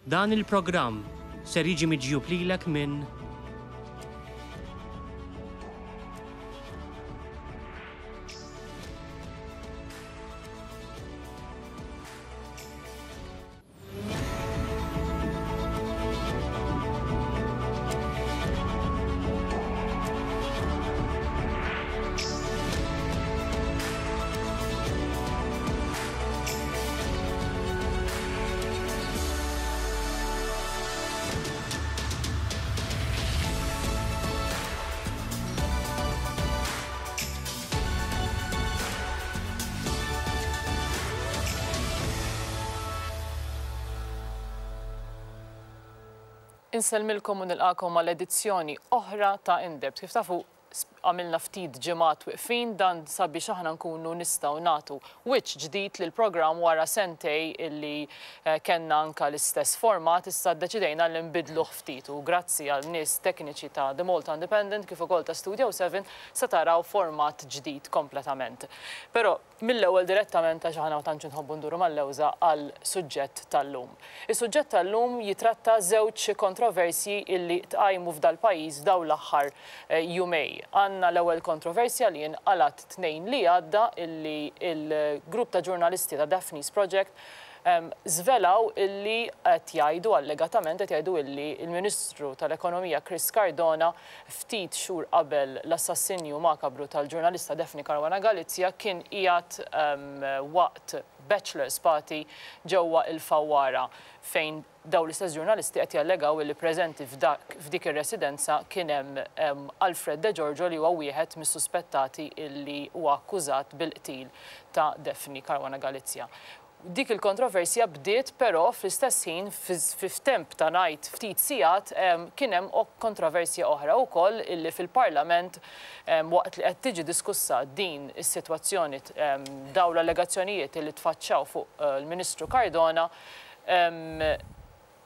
Dan il-programm ser jiġi miġjub lilek minn. Insellmilkom u nilqakom għal edizzjoni oħra ta' Indebt. Kif tafu, għamilna ftit ġimgħat wiqfin dan sabiex aħna nkunu nistgħu nagħtu wiċċ ġdid lill-programm wara sentej illi kellna anke l-istess format, issa ddeċidejna li nbiddluh ftit u grazzi għal nies tekniċi ta' The Malta Independent kif ukoll ta' Studio 7 se taraw format ġdid kompletament. Però mill-ewwel direttament għax aħna ma tantx inħobbu nduru mal-lewża għal suġġett tal-lum. Is-suġġett tal-lum jitratta żewġ kontroversji illi tqajmu f'dal-pajjiż f'dawn l-aħħar jumej. Għandna l-ewwel kontroversja li inqalgħet Tnejn li għadda illi l-grupp ta' ġurnalisti ta' Daphne's Project żvelaw illi qed jgħidu, allegatament qed jgħidu illi l-Ministru tal-Ekonomija Chris Cardona ftit xhur qabel l-assassinju makabru tal-ġurnalista Daphne Caruana Galizia kien qiegħed waqt bachelor's party ġewwa il-Fawwara fejn dawn l-istess ġurnalisti qed jallegaw illi preżenti f'dak f'dik ir-residenza kien hemm Alfred De Giorgio li huwa wieħed mis-suspettati illi huwa akkużat bil-qtil ta' Daphne Caruana Galizia. Dik il-kontroversja bdiet però fl-istess ħin f'temp ta' ngħid ftit sigħat kien hemm kontroversja oħra wkoll illi fil-Parlament waqt li qed tiġi diskussa din is-sitwazzjoni dawn l-allegazzjonijiet illi tfaċċaw fuq il-Ministru Cardona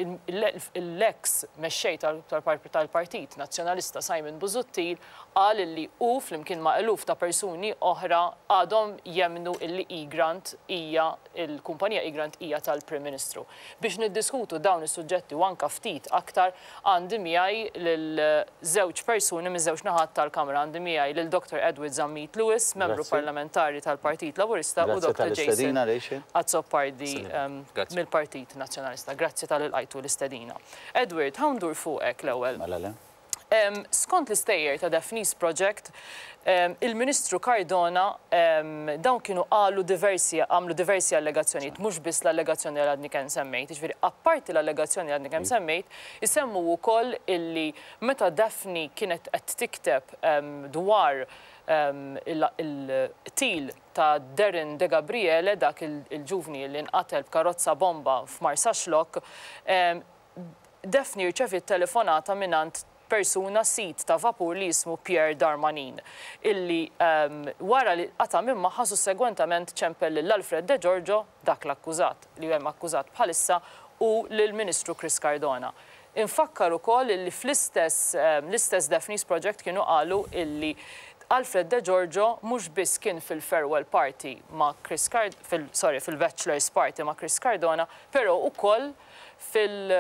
l-eks mexxej tal-Partit Nazzjonalista Simon Busuttil qal illi hu flimkien ma' eluf ta' persuni oħra għadhom jemmnu illi Egrant hija il-kumpanija Egrant hija tal-Prim Ministru. Biex niddiskutu dawn is-suġġetti u anka ftit aktar għandi miegħi lil żewġ persuni miż-żewġ naħat tal-Kamra. Għandi miegħi lil Dr Edward Zammit Lewis, Membru Parlamentari tal-Partit Laburista u Dr Jason Azzopardi mill-Partit Nazzjonalista. Grazzi talli lqajtu l-istedina. Edward, ħa ndur fuqek l-ewwel. Mela le. Skont l-istejjer ta' Daphne's Project, il-Ministru Cardona dawn kienu qalu diversi, għamlu diversi allegazzjonijiet, mhux biss l-allegazzjoni li għadni kemm semmejt. Jiġifieri apparti l-allegazzjoni li għadni kemm semmejt, isemmu wkoll illi meta Daphne kienet qed tikteb dwar il-qtil ta' Darren Degabriele, dak il-ġuvni li nqatel b'karozza bomba f'Marsaxlokk, Daphne rċeviet telefonata mingħand persuna sid ta' vapur li jismu Pierre Darmanin, illi wara li qata' minn magħha sussegwentament ċempel lil Alfred De Giorgio, dak l-akkużat li hemm akkużat bħalissa, u lill-Ministru Chris Cardona. Infakkar ukoll illi fl-istess l-istess Daphne's Project kienu qalu illi Alfred De Giorgio mhux biss kien fil-farewell party ma' Chris Card fil sorry fil-bachelor's party ma' Chris Cardona, però ukoll fil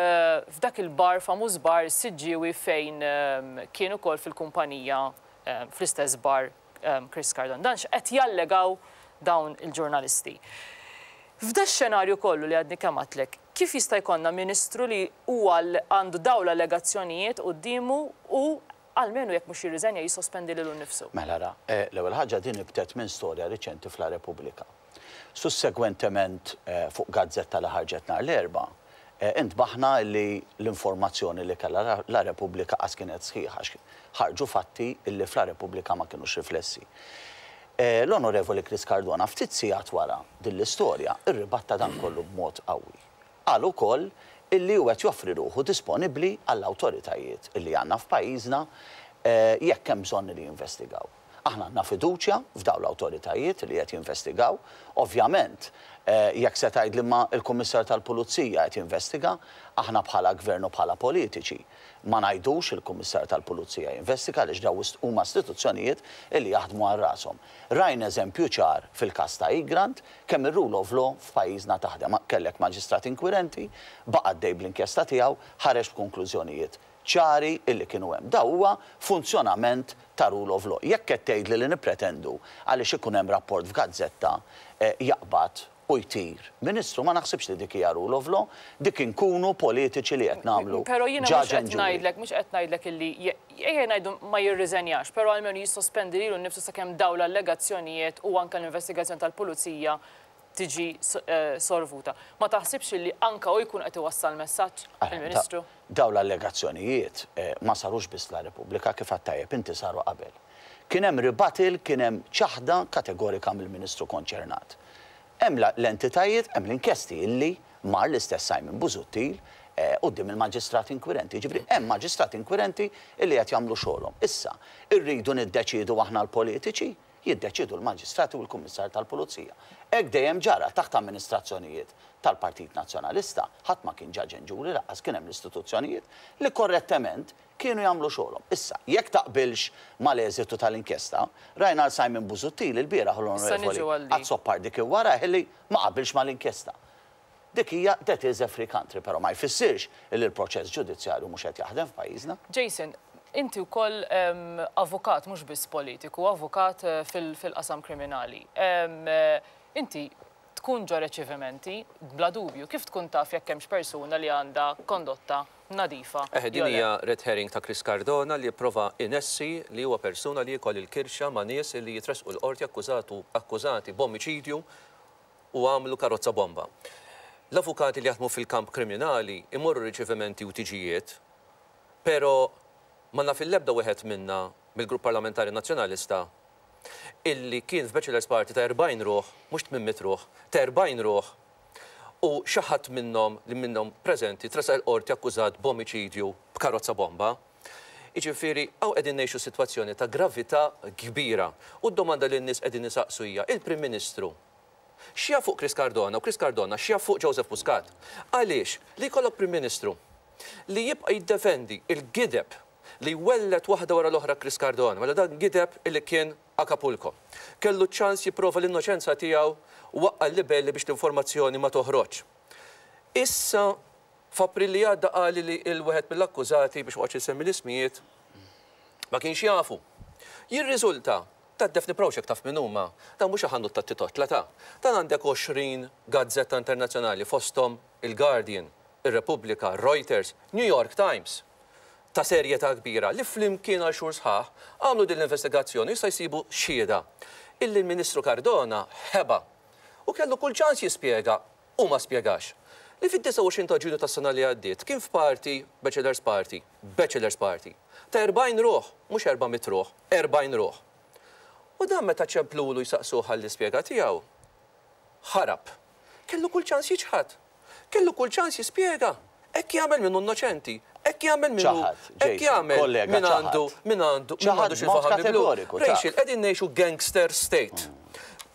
f'dak il-bar famuż bar is-Siġġiewi fejn kien ukoll fil-kumpanija fl-istess bar Chris Cardona. Dan x'qed jallegaw dawn il-ġurnalisti. F'da x-xenarju kollu li għadni kemm għedtlek, kif jista' jkollna Ministru li huwa għandu dawn l-allegazzjonijiet quddiemu u almenu jekk mhux jirriżenja jissospendi lilu nnifsu? Mela ara, l-ewwel ħaġa din nibtet minn storja riċenti f'La Repubblica. Sussegwentement fuq gazzetta li ħarġet nhar l-Erbgħa, intbaħna li l-informazzjoni li kellha La Repubblica qas kienet sħiħa għax ħarġu fatti li f'La Repubblica ma kinux riflessi. L-Onorevoli Chris Cardona ftit sigħat wara din l-istorja rribatta dan kollu b'mod qawwi. Qal ukoll illi hu qed joffri ruħu disponibbli għall-awtoritajiet illi għandna f'pajjiżna jekk hemm bżonn li jinvestigaw. Aħna għandna fiduċja f'dawn l-awtoritajiet li qed jinvestigaw. Ovvjament, jekk se tgħidli imma l-Kummissarju tal-Pulizija qed jinvestiga, aħna bħala Gvern u bħala politiċi ma ngħidux il-Kummissarju tal-Pulizija jinvestiga għaliex dawn huma istituzzjonijiet li jaħdmu għal rashom. Rajna eżempju ċar fil-każ ta' Egrant kemm ir-rule of law f'pajjiżna taħdem. Kellek maġistrat inkwirenti, baqa' għaddej bl-inkjesta tiegħu, ħareġ b'konklużjonijiet ċari illi kienu hemm. Da huwa funzjonament ta' rule of law. Jekk qed tgħidli li nippretendu għaliex ikun hemm rapport f'gazzetta jaqbad u jtir Ministru, ma naħsibx li dik hija rule of law, dik inkunu politiċi li qed nagħmlu Però jiena mhux judge qed and jury. ngħidlek, mhux qed ngħidlek illi ejja ngħidu ma jirriżenjax, però almenu jissospendi lilu nnifsu sakemm dawn l-allegazzjonijiet u anke l-investigazzjoni tal-pulizija tiġi solvuta. Ma taħsibx illi anke hu jkun qed iwassal messaġġ, il-Ministru? Dawn l-allegazzjonijiet ma sarux biss la Repubblika, kif għedt tajjeb inti saru qabel. Kien hemm rebuttal, kien hemm ċaħda kategorika mill-Ministru konċernat. Hemm l-entitajiet, hemm l-inkjesti illi mar l-istess Simon Busuttil quddiem il-maġistrat inkwirenti. Jiġifieri hemm maġistrat inkwirenti illi qed jagħmlu xogħolhom. Issa, irridu niddeċiedu aħna l-politiċi, jiddeċiedu l-maġistrati u l-Kummissarju tal-Pulizija. Hekk dejjem ġara taħt amministrazzjonijiet tal-Partit Nazzjonalista, ħadd ma kien judge and jury, lanqas kien hemm l-istituzzjonijiet li korrettement kienu jagħmlu xogħolhom. Issa, jekk taqbilx mal-eżitu tal-inkjesta, rajna l Simon Busuttil il-bieraħ u Issa l-Onorevoli niġu għal dik. Azzopardi kien wara illi ma qabilx mal-inkjesta. Dik hija that is a free country, però ma jfissirx li l-proċess ġudizzjarju mhux qed jaħdem f'pajjiżna. Jason, inti wkoll avukat mhux biss politiku, avukat fil-qasam kriminali. Inti tkun ġo riċevimenti, bla dubju, kif tkun taf jekk hemmx persuna li għandha kondotta nadifa? Din jew le? hija red herring ta' Chris Cardona li jipprova inessi li huwa persuna li jkoll il-kirxa ma' nies li jitresqu l-qorti akkużati b'omiċidju u għamlu karozza bomba. L-avukati li jaħdmu fil-kamp kriminali imorru riċevimenti u tiġijiet, pero ma naf il-lebda wieħed minna mill-Grupp Parlamentari Nazzjonalista illi kien f'Bachelor's Party ta' 40 ruħ, mhux 800 ruħ, ta' 40 ruħ, u xi ħadd minnhom li minnhom preżenti tressaq il-qorti akkużat b'omiċidju b'karozza bomba. Jiġifieri, hawn qegħdin ngħixu sitwazzjoni ta' gravità kbira. U d-domanda li n-nies qegħdin isaqsu hija il-Prim Ministru x'jaf fuq Chris Cardona u Chris Cardona x'jaf fuq Joseph Muscat. Għaliex li jkollok Prim Ministru li jibqa' jiddefendi il-gideb li wellet waħda wara l-oħra Chris Cardona, mela dan gideb illi kien Acapulco. Kellu ċans jipprova l-innoċenza tiegħu u waqqa' l-libelli biex l-informazzjoni ma toħroġ. Issa f'April li għadda qal li il-wieħed mill-akkużati biex waqgħet insemmi l-ismijiet ma kienx jafu. Jirriżulta ta' Daphne Proxek taf min huma, dan mhux ħanut ta' titotla ta' dan għandek 20 gazzetta internazzjonali fosthom il-Guardian, ir-Repubblika, Reuters, New York Times ta' serjetà kbira li flimkien għal xhur sħaħ għamlu din l-investigazzjoni jista' jsibu xhieda illi l-Ministru Cardona ħeba u kellu kull ċans jispjega u ma spjegax. Li fid-29 ta' Ġunju tas-sena li għaddiet kien f'party, Bachelor's Party, Bachelor's Party, ta' 40 ruħ, mhux 400 ruħ, 40 ruħ. U dan meta ċemplulu jsaqsuh għall-ispjega tiegħu, ħarab. Kellu kull ċans jiċħad. Kellu kull ċans jispjega. Hekk jagħmel minnu innoċenti, hekk jagħmel minnu, Ċaħad, hekk Jason, jagħmel kollega, min għandu, ċaħad. min għandu, min Ċaħad għandu xi b'mod faħam miblu. kategoriku, taf. Rachel, qegħdin ngħixu gangster state.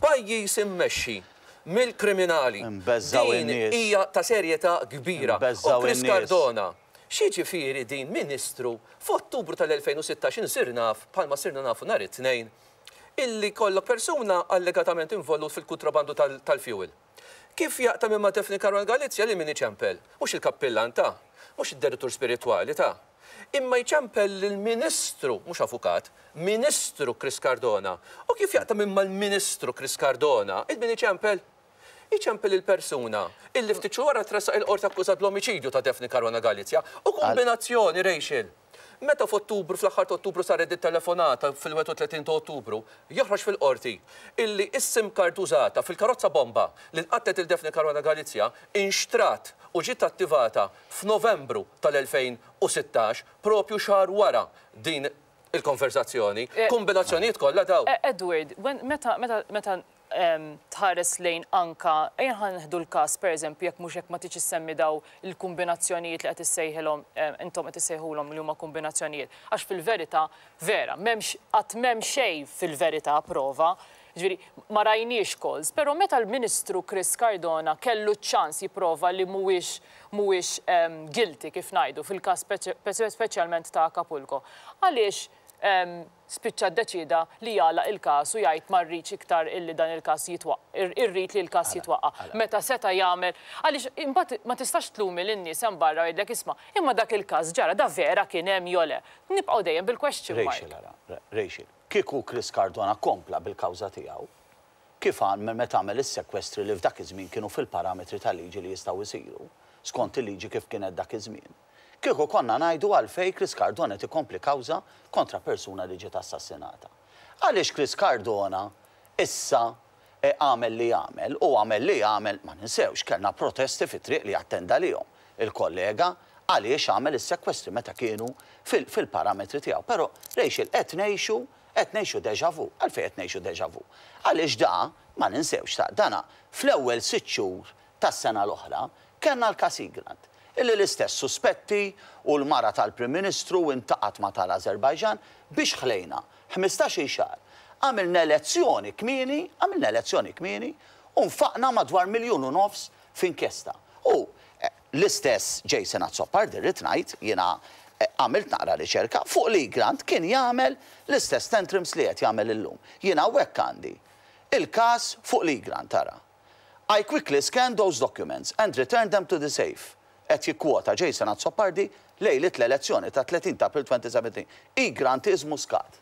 Pajjiż immexxi mill-kriminali. Nbeżżaw Din in-nies. hija ta' serjetà kbira. U Nbeżżaw Chris in-nies. Cardona, x'jiġifieri din Ministru f'Ottubru tal-2016 insir naf, bħalma sirna nafu nhar it-tnejn, illi kollok persuna allegatament involut fil-kontrabandu tal-fuel. Kif jaqta' minn ma' Daphne Caruana Galizia li min iċempel? Mhux il-kappillan ta' mhux id-direttur spiritwali ta' imma jċempel lill-Ministru, mhux avukat, Ministru Chris Cardona. U kif jaqta' minn mal-Ministru Chris Cardona, il-min iċempel? Iċempel il-persuna illi ftit xhur wara tressaq il-qorti akkużat bl-omiċidju ta' Daphne Caruana Galizia. U kombinazzjoni, Rachel, meta f'Ottubru, fl-aħħar ta' Ottubru saret it-telefonata fil-31 ta' Ottubru, joħroġ fil-qorti illi is-SIM card użata fil-karozza bomba li nqatlet il Daphne Caruana Galizia inxtrat u ġiet attivata f'Novembru tal-2016, propju xahar wara din il-konversazzjoni. Kombinazzjonijiet kollha daw. Edward, meta Tħares lejn anka, ejja ħa nieħdu l-każ pereżempju jekk mhux jekk ma tridx issemmi daw il-kumbinazzjonijiet li qed issejħilhom intom qed issejħulhom li huma kumbinazzjonijiet. Għax fil-verità, vera, m'hemmx qatt m'hemm xejn fil-verità prova. Jiġifieri ma rajniex calls, però meta l-Ministru Chris Cardona kellu ċ-ċans jipprova li mhuwiex mhuwiex guilty kif ngħidu fil-każ speċjalment ta' Acapulco, għaliex spiċċa ddeċieda li jagħlaq il-każ u jgħid ma rridx iktar illi dan il-każ jitwaqq, irrid li l-każ jitwaqqa'. Meta seta' jagħmel, għaliex imbagħad ma tistax tlumi lin-nies hemm barra u jgħidlek isma' imma dak il-każ ġara, da vera kien hemm jew le. Nibqgħu dejjem bil-question mark. Rachel ara, Rachel, kieku Chris Cardona kompla bil-kawża tiegħu, kif għamel meta għamel is-sekwestri li f'dak iż-żmien kienu fil-parametri tal-liġi li jistgħu jsiru, skont il-liġi kif kienet dak iż-żmien. Kieku konna ngħidu għalfejn Chris Cardona qed ikompli kawża kontra persuna li ġiet assassinata. Għaliex Chris Cardona issa għamel li għamel u għamel li għamel, ma ninsewx, kellna protesti fit-triq li attenda għalihom il-kollega għaliex għamel is-sekwestri meta kienu fil-parametri tiegħu. Però, Rachel, qed ngħixu, qed ngħixu déjà vu. Għalfejn qed ngħixu déjà vu? Għaliex da, ma ninsewx, ta' dana fl-ewwel sitt xhur tas-sena l-oħra, kellna l-każ Egrant, illi l-istess suspetti u l-mara tal-Prim Ministru intaqgħet ma' tal-Azerbajġan biex ħlejna ħmistax-il xahar. Għamilna elezzjoni kmieni, għamilna elezzjoni kmieni u nfaqna madwar 1.5 miljun f'inkjesta. U l-istess Jason Azzopardi rrid ngħid, jiena għamilt naqra riċerka, fuq l-Egrant kien jagħmel l-istess tantrums li qed jagħmel illum. Jiena hawnhekk għandi il-każ fuq l-Egrant, ara. I quickly scanned those documents and returned them to the safe, qed jikkwota Jason Azzopardi lejliet l-elezzjoni tat-30 ta' April 2017. Egrant is Muscat.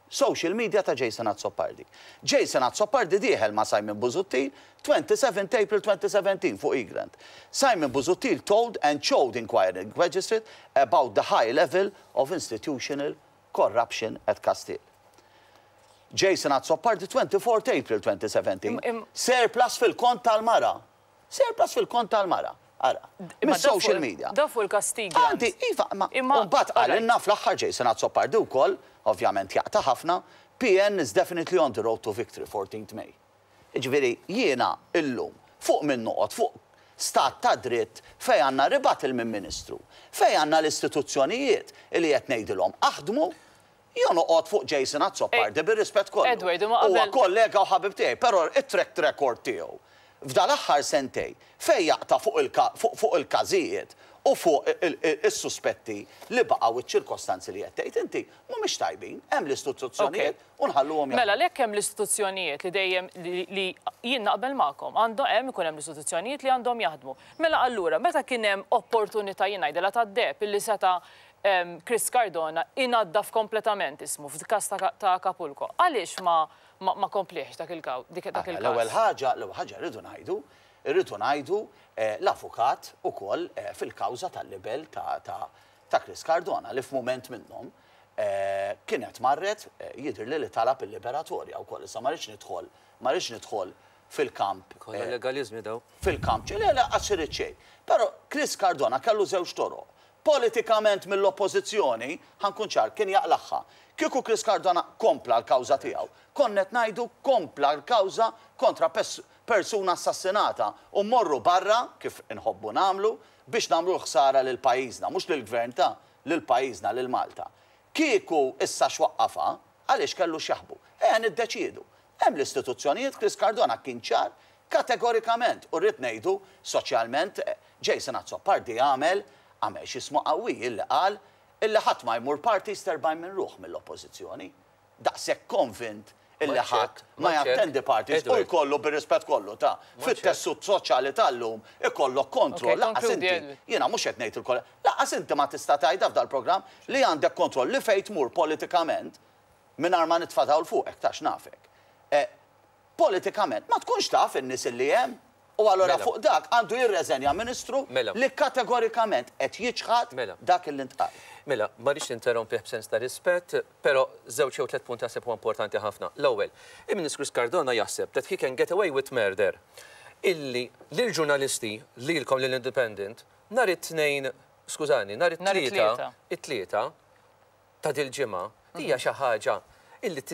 Social media ta' Jason Azzopardi. Jason Azzopardi dieħel ma' Simon Busuttil 27 April 2017 fuq Egrant. Simon Busuttil told and showed inquiring magistrate about the high level of institutional corruption at Castile. Jason Azzopardi 24 April 2017. Surplus fil-kont tal-mara. Surplus fil-kont tal-mara. Ara, mis-social media. Da fuq il-kastig. Għandi, iva, ma mbagħad qalilna fl-aħħar Jason Azzopardi wkoll, ovvjament jaqta' ħafna, PN is definitely on the road to victory 14th May. Jiġifieri jiena illum fuq min noqgħod fuq stat ta' dritt fejn għandna rebuttal minn Ministru, fejn għandna l-istituzzjonijiet li qed ngħidilhom aħdmu, jew noqgħod fuq Jason Azzopardi bir-rispett kollu. Edward, imma Huwa kollega u ħabib tiegħi, però it-track record tiegħu f'dal-aħħar sentej fejn jaqta' fuq il-każijiet u fuq is-suspetti li baqgħu ċ-ċirkostanzi li qed tgħid inti mhumiex tajbin, hemm l-istituzzjonijiet u nħalluhom jaħdmu. Mela lek hemm l-istituzzjonijiet li dejjem li jien naqbel magħkom, għandu hemm ikun hemm l-istituzzjonijiet li għandhom jaħdmu. Mela allura meta kien hemm opportunità jien ngħidilha tad-deheb illi seta' Chris Cardona inaddaf kompletament ismu f'każ ta' Acapulco, għaliex ma kompliex dak il-każ? L-ewwel ħaġa, l-ewwel ħaġa rridu ngħidu, irridu ngħidu l-avukat ukoll fil-kawża tal-libel ta' Chris Cardona li f'mument minnhom kienet marret jidhirli li talab il-liberatorja wkoll. Issa ma rridx nidħol, ma rridx nidħol fil-kamp. Kollha legaliżmi daw. Fil-kamp, le le qatt irid xejn. Però Chris Cardona kellu żewġ toroq. Politikament mill-Oppożizzjoni, ħa nkun ċar, kien jaqlagħha. Kieku Chris Cardona kompla l-kawża tiegħu, konna qed ngħidu kompla l-kawża kontra persuna assassinata u mmorru barra, kif inħobbu nagħmlu, biex nagħmlu l-ħsara lil pajjiżna, mhux lill-Gvern ta', lil pajjiżna, lil Malta. Kieku issa x'waqqafha, għaliex kellu x'jaħbu. Ejja niddeċiedu. Hemm l-istituzzjonijiet, Chris Cardona kien ċar kategorikament u rrid ngħidu soċjalment Jason Azzopardi għamel għamel x'ismu qawwi illi qal illi ħadd ma jmur parties t'40 minn ruħ mill-Oppożizzjoni. Daqshekk konvint illi ħadd ma jattendi parties u jkollu bir-rispett kollu ta' fit-tessut soċjali tal-lum ikollok kontroll lanqas inti, jiena mhux qed ngħid il-kollha, lanqas inti ma tista' tgħidha f'dal-programm li għandek kontroll li fejn tmur politikament mingħajr ma nitfa' dawl fuqek tax nafek. Politikament ma tkunx taf in-nies illi hemm u allura fuq dak għandu jirreżenja Ministru li kategorikament qed jiċħad dak illi ntqal. Mela, ma rridx ninterrompih b'sens ta' rispett, però żewġ jew tliet punti naħseb huma importanti ħafna. L-ewwel, il-Ministru Chris Cardona jaħseb that he can get away with murder illi lill-ġurnalisti, lilkom lill-Independent, nhar it-Tnejn, skużani, nhar it-Tlieta, it-Tlieta ta' dil-ġimgħa, hija xi ħaġa illi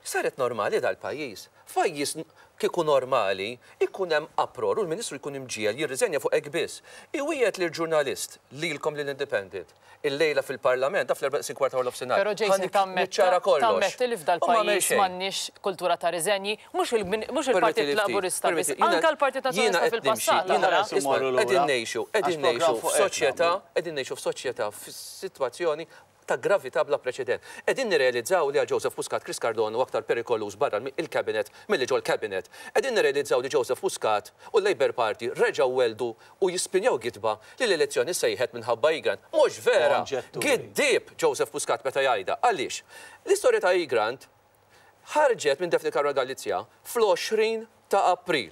saret normali dal-pajjiż. F'pajjiż Kieku normali, ikun hemm uproar u l-Ministru jkun imġiegħel jirriżenja fuq hekk biss. Iwiegħed lill-ġurnalist, lilkom lill-Independent, illejla fil-Parlament, taf l-erbgħa neqsin kwart ta' waranofsinhar, Però ħa Jason tammetti niċċara kollox. tammetti li U ma għamel f'dal-pajjiż xejn. m'għandniex kultura ta' riżenji, mhux il mhux il-Partit Permettili ftit, Laburista biss, permettili, jiena anke l-Partit jiena Nazzjonalista qed nimxi, fil-passat jiena ara. Aħares isma' immorru lura. qegħdin ngħixu, Għax qegħdin programm ngħixu fuq hekk f'soċjetà, nagħmlu. qegħdin ngħixu f'soċjetà f'sitwazzjoni ta' gravità bla preċedent. Qegħdin nirrealizzaw li għal Joseph Muscat Chris Cardona huwa aktar perikoluż barra il-cabinet milli ġol-cabinet. Qegħdin nirrealizzaw li Joseph Muscat u l-Labour Party reġgħu welldu u jispinjaw gidba li l-elezzjoni ssejħet minħabba Egrant. Mhux vera! Giddieb Joseph Muscat meta jgħidha. Għaliex? L-istorja ta' Egrant ħarġet minn Daphne Caruana Galizia fl-20 ta' April.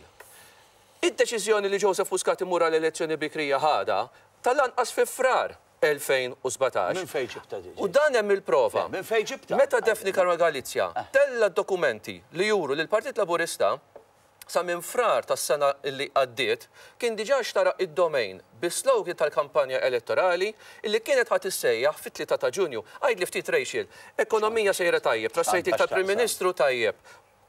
Id-deċiżjoni li Joseph Muscat imur għal elezzjoni bikrija ħadha tal-anqas fi Frar. 2017. Minn fejn ġibtha di? U dan hemm il-prova. Le, minn fejn ġibtha? Meta Daphne Caruana Galizia tellgħet dokumenti li juru li l-Partit Laburista sa minn Frar tas-sena li għaddiet kien diġà xtara id-domain bis-slogan tal-kampanja elettorali li kienet ħa tissejjaħ fit-3 ta' Ġunju. Għidli ftit Rachel, ekonomija sejra tajjeb, trust rating tal-Prim Ministru tajjeb,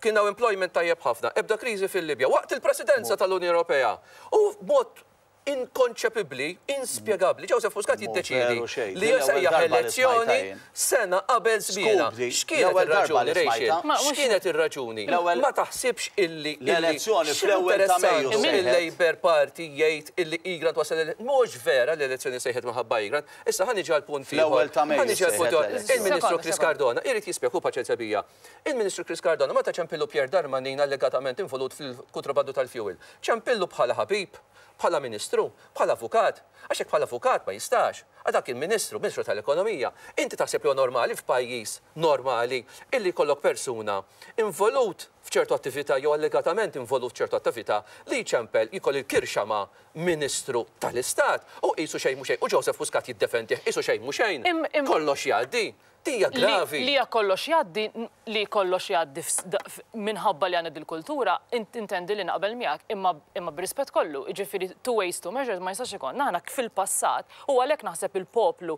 kien hawn employment tajjeb ħafna, ebda kriżi fil-Libja, waqt il-Presidenza tal-Unjoni Ewropea u b'mod Inkonċepibbli, inspjegabbli. Joseph Muscat jiddeċiedi li jsejjaħ elezzjoni sena qabel żmienha. X'kienet ir-raġuni, Rachel? X'kienet ir-raġuni? Ma taħsibx illi x'interessantu il-Labour Party jgħid illi Egrant wasal Mhux vera li l-elezzjoni sejħet minħabba Egrant. Issa ħa niġi għal punt ieħor. Ħa niġi għal punt ieħor. Il-Ministru Chris Cardona irid jispjega, hu paċenzja bija. Il-Ministru Chris Cardona meta ċempillu Pierre Darmanin allegatament involut fil-kuntrabandu tal-fuel, ċempillu bħala ħabib? Bħala Ministru? Bħala avukat? Għax jekk bħala avukat ma jistax. Għax dak kien Ministru, Ministru tal-Ekonomija. Inti taħseb li huwa normali f'pajjiż normali illi jkollok persuna involut f'ċertu attività jew allegatament involut f'ċertu attività li jċempel jkoll il-kirxa ma' Ministru tal-Istat u qisu xejn mhu xejn u Joseph Muscat jiddefendih qisu xejn mhu xejn. Kollox jgħaddi. Din hija gravi. Li hija kollox jgħaddi, li kollox jgħaddi minħabba li għandna dil-kultura, intendi li naqbel miegħek, imma imma b'rispett kollu, jiġifieri two ways two measures ma jistax ikollna. Aħna fil-passat, u għalhekk naħseb il-poplu,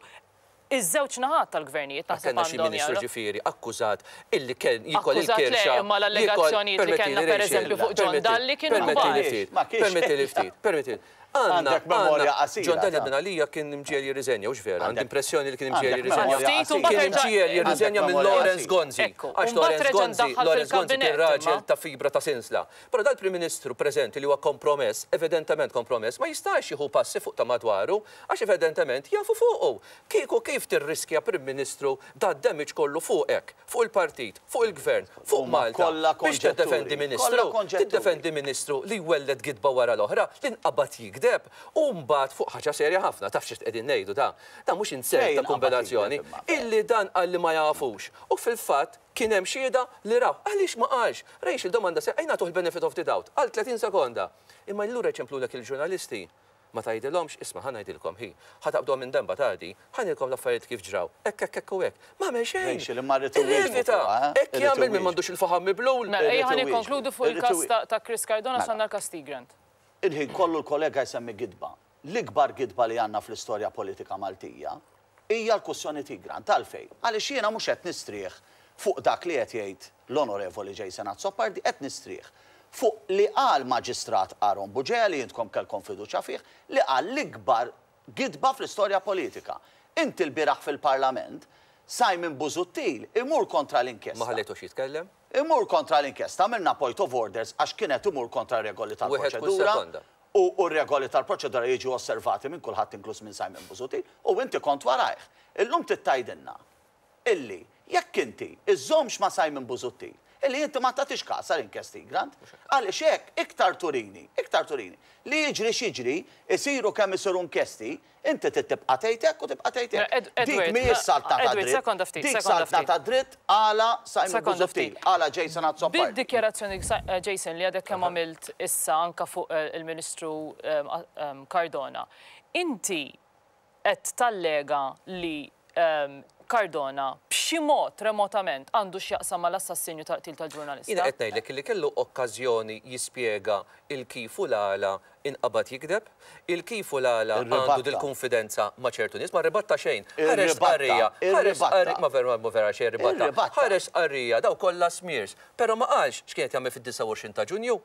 iż-żewġ naħat tal-gvernijiet naħseb Kellna xi għandhom ministru jaraw. ġifieri akkużat illi kien jiekol Akkużat le, il-kirxa, imma jiekol, l-allegazzjonijiet li kellna permettili Rachel, pereżempju fuq John Dalli kienu permettili kbar. ftit, Ma kienx. permettili ftit, permettili. Għandna, Għandek memorja għandna, qasira, John Daniel ta. minn għalija kien imġiegħel jirriżenja, hux vera? Għandi Għandek- impressjoni li kien imġiegħel għandek jirriżenja. memorja Ftit u qasira. mbagħad Kien reġa' imġiegħel jirriżenja Għandek minn memorja Lawrence qasira. Gonzi. Ekku, Għax u mbagħad Lawrence reġa' Gonzi, ndaħħal Lawrence Gonzi kien fil-kabinett, raġel imma. ta' fibra ta' sinsla. Però dal-Prim Ministru preżenti li huwa kompromess, evidentement kompromess, ma jistax jieħu passi fuq ta' madwaru għax evidentement jafu fuqu. Kieku kif tirriskja Prim Ministru dad-damage kollu fuqek, fuq il-partit, fuq il-gvern, fuq Huma Malta, kollha biex konġetturi. tiddefendi ministru, Kollha konġetturi. tiddefendi ministru li jwelled gidba wara l-oħra, li nqabad jigdeb u mbagħad fuq ħaġa serja ħafna, taf xi qegħdin ngħidu da, dan mhux insert Fejn ta' nqabad kombinazzjoni, jigdeb imma? illi dan qal li ma jafux. U fil-fatt kien hemm xhieda li raw. Għaliex ma qalx? Rachel domanda serja, ejja nagħtuh il-benefit of the doubt għal 30 sekonda. Imma allura jċemplulek il-ġurnalisti. Ma tgħidilhomx, isma' ħa ngħidilkom hi, ħa taqbduha minn denba ta' di, ħa ngħidilkom l-affarijiet kif ġraw, hekk hekk hekk u hekk. Ma għamel xejn. Rachel, imma rrid iwieġbu Irrevita. fuqha, eh? Hekk Irrid jagħmel min iwieġbu. m'għandux il-faħam miblul. Mela, ejja ħa Irrid iwieġbu. nikkonkludu fuq Irrid il-każ iwieġbu. ta' Chris Cardona Mela. x'għandna l-każ Tigrant. Il-ħin kollu l-kollega jsemmi gidba. L-ikbar gidba li għandna fl-istorja politika Maltija hija l-kwistjoni Tigrant. Għalfejn? Għaliex jiena mhux qed nistrieħ fuq dak li qed jgħid l-Onorevoli Jason Azzopardi, qed nistrieħ fuq li qal Maġistrat Aaron Bugeja li intkom kellkom fiduċja fih, li qal l-ikbar gidba fl-istorja politika. Inti l-bieraħ fil-Parlament, Simon Busuttil imur kontra l-inkjesta. Ma ħallejtux jitkellem? Imur kontra l-inkjesta, għamilna point of orders għax kienet imur kontra regoli Wieħed kull tal-proċedura. sekonda. U r-regoli tal-proċedura jiġu osservati minn kulħadd inkluż minn Simon Busuttil u inti kont warajh. Illum trid tgħidilna illi jekk inti iżżommx ma' Simon Busuttil, illi inti ma tagħtix kas għal inkjesti Grant, għaliex hekk iktar turini, iktar turini, li jiġri x'jiġri, isiru kemm isiru inkjesti, inti trid tibqa' tgħid hekk u tibqa' tgħid hekk. Ed, Dik Edward, mhijiex saltna ta' Edward, dritt. sekonda ftit, Dik sekonda saltna ftit. ta' dritt għala Simon Sekonda Busuttil, ftit. għala Jason Azzopardi. Bid-dikjarazzjoni, Jason, li għadek kemm għamilt issa anka fuq il-Ministru Cardona, inti qed tallega li Cardona b'xi b'xi mod remotament għandu x'jaqsam mal-assassinju tal-qtil tal-ġurnalista. Jiena qed ngħidlek illi kellu okkażjoni jispjega il-kif u l-għala inqabad jigdeb, il-kif u l-għala għandu dil-kunfidenza ma' ċertu nies, ma rribatta xejn. Ħareġ stqarrija, ħareġ stqarrija, ma vera ma vera xejn ribatta. Ħareġ stqarrija, dawn kollha smears. Però ma qalx x'kien qed jagħmel fid-29 ta' Ġunju.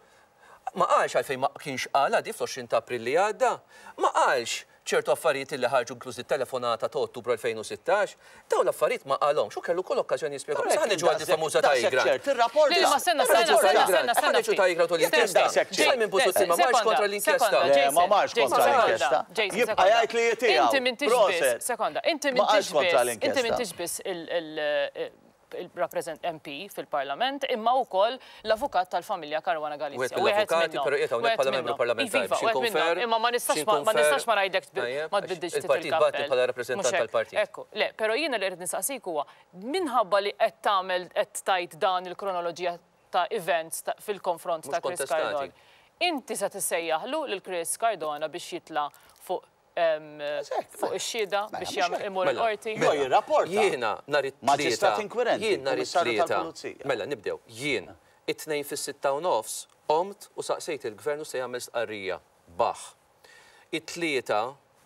Ma qalx għalfejn ma kienx qalha di fl-20 ta' April li għadda. Ma qalx ċertu affarijiet li ħarġu inkluż it-telefonata ta' Ottubru 2016. Dawn l-affarijiet ma qalhomx u kellu kull okkażjoni jispjegahom. Issa ħa niġu għal dil-famuża ta' Egrant. Le, ma stenna, stenna, stenna, stenna, Ħa niġu ta' Egrant u l-inkjesta. Simon Busuttil ma marx kontra l-inkjesta. Le, ma marx kontra l-inkjesta. Jibqa' jgħid li hi tiegħu. Inti m'intix biss, sekonda, inti m'intix biss, inti m'intix biss il-rappreżent MP fil-Parlament imma wkoll l-avukat tal-familja Caruana Galizia. Wieħed mill-avukati, però qiegħed hawnhekk bħala membru parlamentari biex inkun fair. Imma ma nistax ma nistax ma ngħidlek ma tbiddilx ftit il-kappell. Il-partit bagħatni bħala rappreżentant tal-partit. Ekku, le, però jiena li rrid nistaqsik huwa minħabba li qed tagħmel qed tgħid dan il-kronoloġija ta' events fil-konfront ta' Chris Cardona. Inti se tissejjaħlu lil Chris Cardona biex jitla' fuq fuq ix-xhieda biex jagħmel imur il-qorti. Jo jirrapporta. Jiena nhar it-Tlieta. Maġistrat inkwirenti. Jien nhar it-Tlieta. Mela nibdew. Jien it-Tnejn fis-sitta u nofs qomt u saqsejt il-Gvern hux se jagħmel stqarrija. Baħ. It-Tlieta,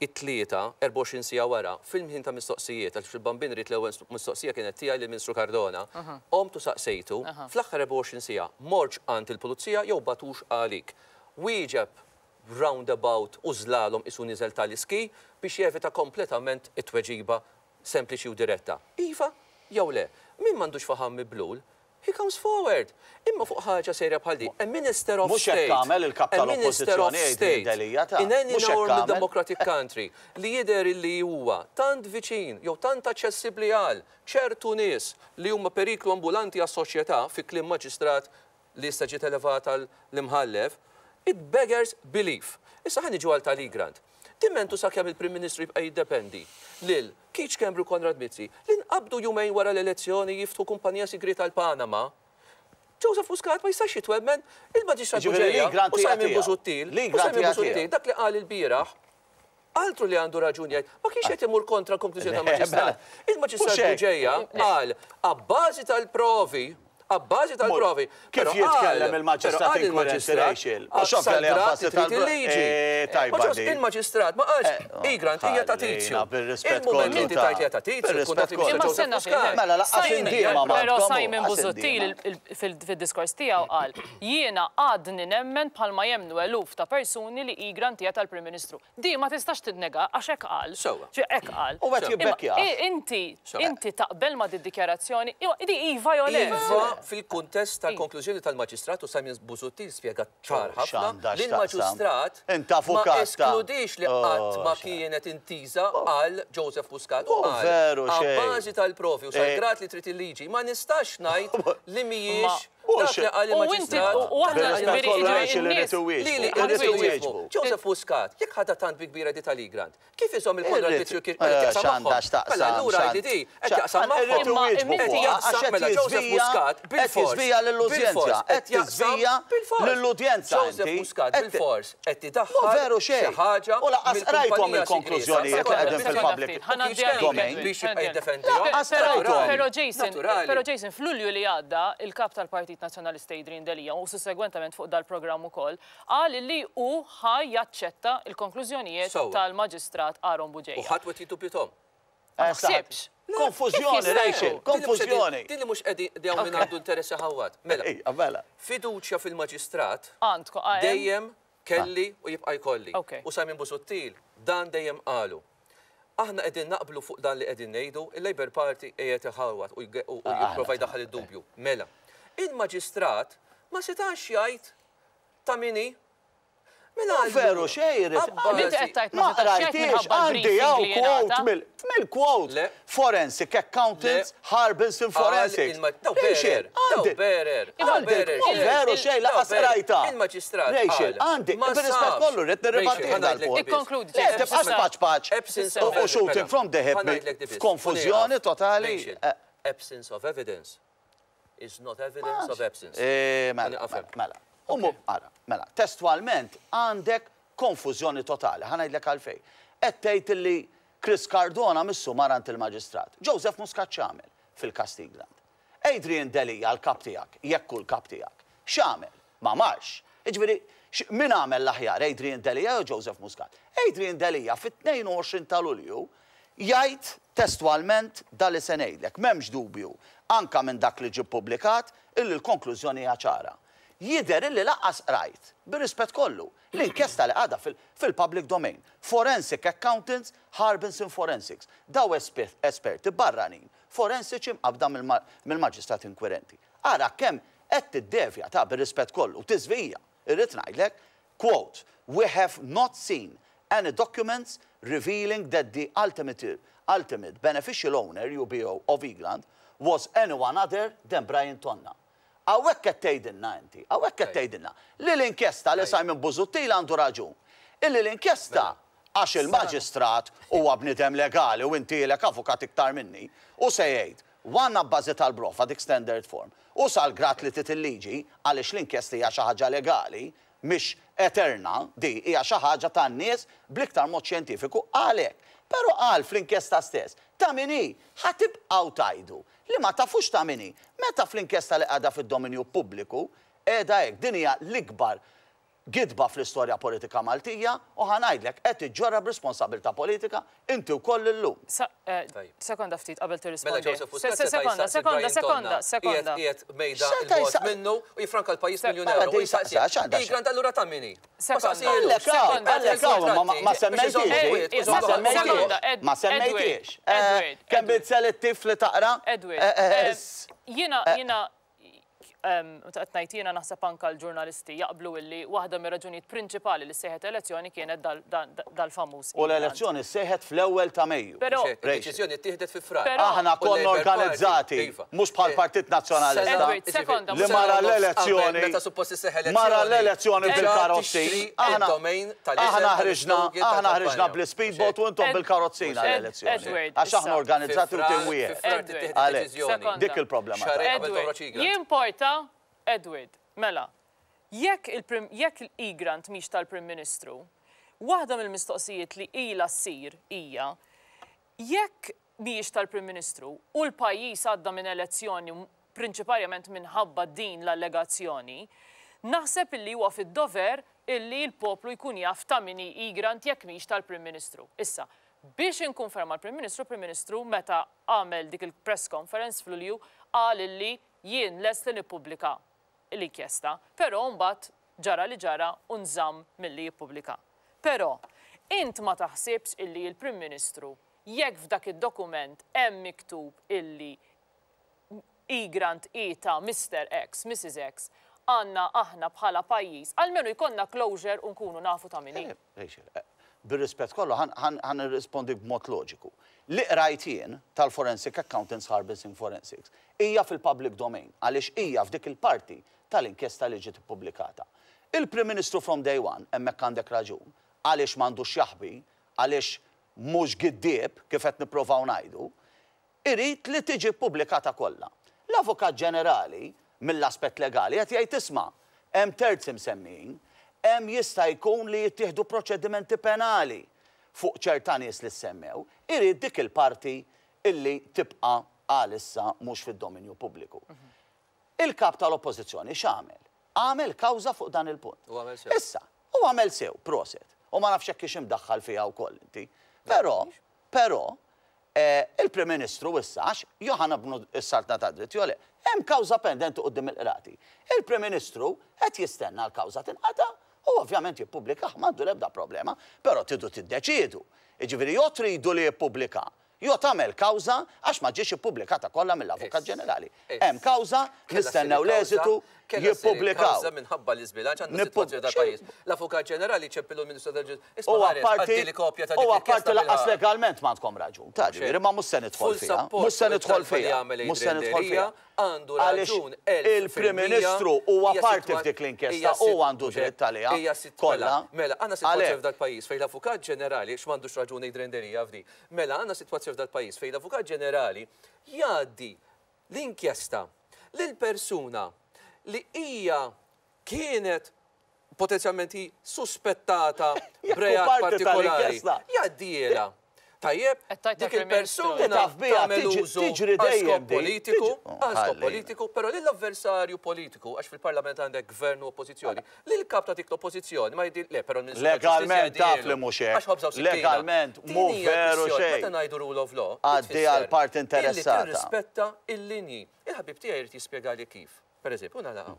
it-Tlieta, 24 siegħa wara, fil-ħin ta' mistoqsijiet, għaliex fil-Bambin ridt l-ewwel mistoqsija kienet tiegħi lill-Ministru Cardona, qomt u saqsejtu, fl-aħħar 24 siegħa mortx għand il-Pulizija jew bagħtux għalik. Wieġeb roundabout u slalom qisu niżel tal-iski biex jevita kompletament it-tweġiba sempliċi u diretta. Iva jew le. Min m'għandux faħam miblul, he comes forward. Imma fuq ħaġa serja bħal din, a minister of Mhux hekk state, għamel il-Kap a minister of tal-Oppożizzjoni Adrian state Delia ta'. in any Mhux hekk normal għamel. democratic country li jidher illi huwa tant viċin jew tant aċċessibbli għal ċertu nies li huma periklu ambulanti għas-soċjetà, fi kliem maġistrat li issa ġiet elevata l-Imħallef, it beggars belief. Issa ħa niġu għal tal-Egrant. Dimmentu sakemm il-Prim Ministru jibqa' jiddependi lil Keith Schembri u Konrad Mizzi li nqabdu jumejn wara l-elezzjoni jiftħu kumpanija sigrieta l-Panama, Joseph Muscat ma jistax jitwemmen il-Maġistrat Jiġifieri Bugeja l-Egrant u hija Simon tiegħu. Busuttil, u L-Egrant Simon hija Busuttil, tiegħu. dak li qal ilbieraħ, Altru li għandu raġun jgħid, ma kienx qed imur kontra l-konklużjoni tal-Maġistrat. Il-Maġistrat Bugeja qal, abbażi tal-provi, abbażi tal-provi. Kif jitkellem il-Maġistrat inkwirenti Rachel? Mhux ovvja li abbażi tal-liġi. Il-Maġistrat ma qalx, Egrant hija ta' Tizju. Il-mument li inti tgħid li hija ta' Tizju, tkun taf li mhix ta' Joseph Muscat. Mela lanqas indiema m'għandkom. Però Simon Busuttil fid-diskors tiegħu qal, jiena għadni nemmen bħalma jemmnu eluf ta' persuni li Egrant hija tal-Prim Ministru. Di ma tistax tinnega għax hekk qal. Sewwa. Ġi hekk qal. U qed jibbekkjah. Imma inti, inti taqbel ma' did-dikjarazzjoni? Iwa, di iva jew le? Iva fil-kuntest tal-konklużjoni tal-Maġistrat u Simon Busuttil spjega ċar ħafna li l-Maġistrat ma eskludiex li qatt ma kienet intiża għal Joseph Muscat u qal abbażi tal-provi u sal-grad li trid il-liġi ma nistax ngħid li mhijiex Dak li qal il-Maġistrat. U aħna ġifieri n-nies. Lili irrid iwieġbu. Joseph Muscat, jekk ħadha tant bi kbira di tal-Egrant, kif iżomm il-Konrad Mizzi u kif qed jaqsam magħhom? Mela allura jgħidli di, qed jaqsam magħhom. Qed jaqsam mela Joseph Muscat bilfors. Qed jiżvija lill-udjenza. Joseph Muscat bilfors qed idaħħal xi ħaġa. U lanqas qrajthom il-konklużjonijiet li qegħdin fil-public domain. Biex jibqa' jiddefendihom. Lanqas qrajthom. Però Jason, però Jason, f'Lulju li għadda, il-Kap tal-Partit Nazzjonalista Adrian Delia u sussegwentament fuq dal-programm ukoll, qal li hu ħa jaċċetta l-konklużjonijiet tal-Maġistrat Aaron Bugeja. U ħadd wet jiddubjithom. Ma taħsibx? Konfużjoni, Rachel, konfużjoni. Din li mhux qegħdin hawn min għandu interess iħawwad. Mela, fiduċja fil-Maġistrat dejjem kelli u jibqa' jkolli. U Simon Busuttil dan dejjem qalu. Aħna qegħdin naqblu fuq dan li qegħdin ngħidu, il-Labour Party qiegħed iħawwad u jipprova jdaħħal id-dubju. Mela, il-Maġistrat ma setax jgħid ta' min hi. Mela Mhu veru xejn irid. Inti qed tgħid ma Ma setax jgħid qrajthiex, minħabba għandi l-briefing hawn li quote ngħata. mill mill-quote Le. Forensic Accountants Le. Harbinson Qal Forensics. il-ma- daw Rachel, bearer, daw għandi. bearer, daw Għandi, bearer, mhu veru xejn daw lanqas bearer. qrajtha. Il-Maġistrat Rachel, qal, għandi, ma bir-rispett sabx. kollu rrid Rachel, nirribattih ħa ngħidlek dal-punt. biss. Ikkonkludi, Le, Jason. tibqax paċ paċ Absence of u evidence. shooting from the hip Ħa ngħidlek di biss. f'konfużjoni totali. Rachel, absence of evidence is not evidence of absence. Eh, mela, Ħa nieqaf mela, hemm. mela. U mu, ara, mela, testwalment għandek konfużjoni totali, ħa ngħidlek għalfejn. Qed tgħid illi Chris Cardona missu mar għand il-Maġistrat. Joseph Muscat x'għamel? fil-każ t'Egrant. Adrian Delia l-kap tiegħek, jekk hu l-kap tiegħek, x'għamel? Ma marx. Jiġifieri, min għamel l-aħjar, Adrian Delia jew Joseph Muscat? Adrian Delia fit-22 ta' Lulju jgħid testwalment dan li se ngħidlek, m'hemmx dubju, anke minn dak li ġie ppubblikat, illi l-konklużjoni hija ċara. Jidher illi lanqas qrajt, bir-rispett kollu, l-inkjesta li għadha fil-public domain. Forensic Accountants, Harbinson Forensics. Daw esperti barranin, forensiċi mqabbda mill-maġistrat inkwirenti. Ara kemm qed tiddevja ta' bir-rispett kollu, tiżvija, irrid ngħidlek, quote, We have not seen any documents revealing that the ultimate ultimate beneficial owner, UBO, of Egrant was anyone other than Brian Tonna. Hawnhekk qed tgħidilna inti, hawnhekk qed tgħidilna li l-inkjesta li Simon Busuttil għandu raġun, illi l-inkjesta għax il-maġistrat huwa bniedem legali u inti ilek avukat iktar minni, u se jgħid, one abbażi tal-brofa dik standard form, u sal-grad li trid il-liġi, għaliex l-inkjesta hija xi ħaġa legali, mhix eterna, di hija xi ħaġa tan-nies bl-iktar mod xjentifiku, qal hekk. Però qal fl-inkjesta stess, ta' min hi, ħa tibqgħu tgħidu li ma tafux ta' min hi, meta fl-inkjesta li qiegħda fid-dominju pubbliku qiegħda hekk. Din hija l-ikbar gidba fl-istorja politika Maltija u ħa ngħidlek, qed iġġorrha b'responsabilità politika inti wkoll illum. Sekonda ftit qabel Mela tirrispondi. Joseph Muscat seta' Sekonda, jsaqsi sekonda, Brian sekonda, Tonna sekonda. qiegħed qiegħed mejda X'seta' 'l bogħod jsaqsi? minnu u jiffranka l-pajjiż miljun Mela ewro u din jsaqsih, saqsa, x'għandha xi. Egrant allura ta' min hi? Ma Sekonda. saqsihilux. Għallek hawn, Sekonda, għallek hawn, imma ma- ma Biex iżomm semmejtiex. kwiet, Ma iżomm semmejtiex. Sekonda, Ed- Ma Edward, semmejtiex. Edward, Kemm Edward. bit-selettiv li taqra? Edward, Eh, eh, s- jiena, jiena, meta qed ngħid jiena naħseb anke l-ġurnalisti jaqblu illi waħda mir-raġunijiet prinċipali li sejħet elezzjoni kienet dal-famuż. U l-elezzjoni sejħet fl-ewwel ta' Mejju. Però Deċiżjoni ttieħdet fi Frar. Aħna konna organizzati, mhux bħal Partit Nazzjonalista. Li mara l-elezzjoni. Meta suppost isseħħ elezzjoni. Mara l-elezzjoni bil-karozzi. Aħna ħriġna, aħna ħriġna bl-speedboat u intom bil-karozzina l-elezzjoni. Għax aħna organizzati u tim wieħed. Għalhekk, dik il-problema. Jimporta, Edward, mela, jekk il-Prim, jekk l-Egrant mhix tal-Prim Ministru, waħda mill-mistoqsijiet li ilha ssir hija jekk mhijiex tal-Prim Ministru u l-pajjiż għadda minn elezzjoni prinċiparjament minħabba din l-allegazzjoni, naħseb illi huwa fid-dover illi l-poplu jkun jaf ta' min hi Egrant jekk mhix tal-Prim Ministru. Issa, biex inkun fair mal-Prim Ministru, Prim Ministru meta għamel dik il-press conference f'Lulju qal illi jien lest li nippubblika l-inkjesta, però mbagħad ġara li ġara u nżamm milli jippubblika. Però, int ma taħsibx illi l-Prim Ministru jekk f'dak id-dokument hemm miktub illi Egrant hi ta' Mister X, Mrs X, għandna aħna bħala pajjiż, almenu jkollna closure u nkunu nafu ta' min hi? Rachel, bir-rispett kollu, ħa nirrispondik b'mod loġiku. Li qrajt jien tal-Forensic Accountants Harbinson Forensics hija fil-public domain għaliex hija f'dik il-parti tal-inkjesta li ġiet ippubblikata. Il-Prim Ministru from day one, hemmhekk għandek raġun, għaliex m'għandux jaħbi, għaliex mhux giddieb kif qed nipprovaw ngħidu, irid li tiġi ppubblikata kollha. L-Avukat Ġenerali, mill-aspett legali, qed jgħid isma', hemm terzi msemmijin, hemm jista' jkun li jittieħdu proċedimenti penali fuq ċerta nies li ssemmew, irid dik il-parti illi tibqa' għalissa mhux fid-dominju pubbliku. Il-Kap tal-Oppożizzjoni x'għamel? Għamel kawża fuq dan il-punt. U għamel sew. Issa, u għamel sew, proset. U ma nafx jekk hix imdaħħal fiha wkoll inti. Però, però, il-Prim Ministru issa, għax jew ħa nabnu s-saltna tad-dritt jew le, hemm kawża pendenti quddiem il-qrati. Il-Prim Ministru qed jistenna l-kawża tinqata' u ovvjament jippubblikah, m'għandu l-ebda problema, però tridu tiddeċiedu. Jiġifieri jew tridu li jippubblika jew tagħmel kawża għax ma ġiex ippubblikata kollha mill-Avukat Ġenerali. Hemm kawża, nistennew l-eżitu, jippubblikaw. Kawża minħabba l-iżbilanċ għandna sitwazzjoni tal-pajjiż. L-Avukat Ġenerali ċempillu l-Ministru tal-Ġustizzja. U apparti u apparti lanqas legalment m'għandkom raġun. Ta' ġifieri ma mhux se nidħol fiha. Mhux se nidħol fiha. Mhux se nidħol fiha. Għandu raġun Għaliex il-Prim Ministru huwa parti f'dik l-inkjesta u għandu dritt għaliha kollha. Mela, għandna sitwazzjoni f'dal-pajjiż fejn l-Avukat Ġenerali, x'm'għandux raġun Adrian Delia f'di, mela għandna sitwazzjoni f'dal-pajjiż fejn l-Avukat Ġenerali jgħaddi l-inkjesta lil persuna li hija kienet potenzjalment hi suspettata b'reat partikolari. Jgħaddielha. Tajjeb, Qed tgħid dik tal-Prim Ministru. il-persuna Taf biha, tagħmel tiġi- użu tiġri għal dejjem skop di. politiku, Tiġi- għal skop Ħalli. politiku, però lill-avversarju politiku, għax fil-Parlament għandek gvern u oppożizzjoni, lil kap ta' dik l-oppożizzjoni ma jdi le, però l-Ministru tal-Ġustizzja Legalment taf jgħidhielu, li mhux hekk. għax ħobża u sikkina. Legalment Din mhu hija veru l-kwistjoni. xejn. Meta ngħidu rule of law, Għaddi tfisser għal parti illi interessata. tirrispetta il-linji. Il-ħabib tiegħi jrid jispjegali kif. Per eżempju, nagħlaqha.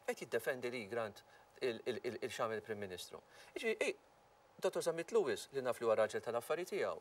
Qed jiddefendi li Grant il-xamel il-Prim Ministru. Jiġifieri, Dr. Zammit Lewis, li naf li huwa raġel tal-affari tiegħu,